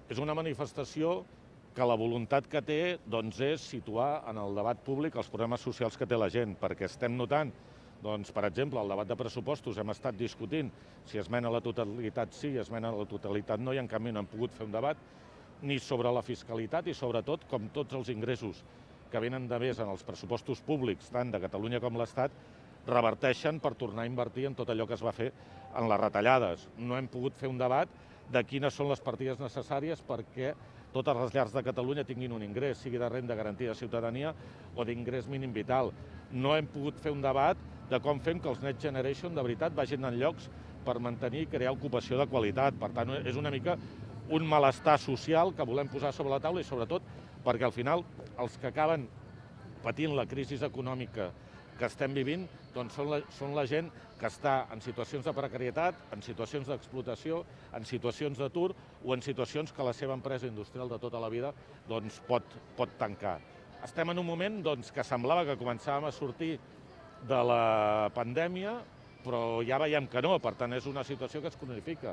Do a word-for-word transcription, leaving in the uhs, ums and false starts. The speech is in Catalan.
És una manifestació que la voluntat que té doncs, és situar en el debat públic els problemes socials que té la gent, perquè estem notant, doncs, per exemple, el debat de pressupostos hem estat discutint si esmena a la totalitat sí, esmena a la totalitat no, i en canvi no hem pogut fer un debat ni sobre la fiscalitat i sobretot com tots els ingressos que venen de més en els pressupostos públics, tant de Catalunya com l'Estat, reverteixen per tornar a invertir en tot allò que es va fer en les retallades. No hem pogut fer un debat de quines són les partides necessàries perquè totes les llars de Catalunya tinguin un ingrés, sigui de renda garantida de ciutadania o d'ingrés mínim vital. No hem pogut fer un debat de com fem que els Next Generation de veritat vagin en llocs per mantenir i crear ocupació de qualitat. Per tant, és una mica un malestar social que volem posar sobre la taula i sobretot perquè al final els que acaben patint la crisi econòmica que estem vivint doncs són, la, són la gent que està en situacions de precarietat, en situacions d'explotació, en situacions d'atur o en situacions que la seva empresa industrial de tota la vida doncs, pot, pot tancar. Estem en un moment doncs, que semblava que començàvem a sortir de la pandèmia, però ja veiem que no, per tant és una situació que es cronifica.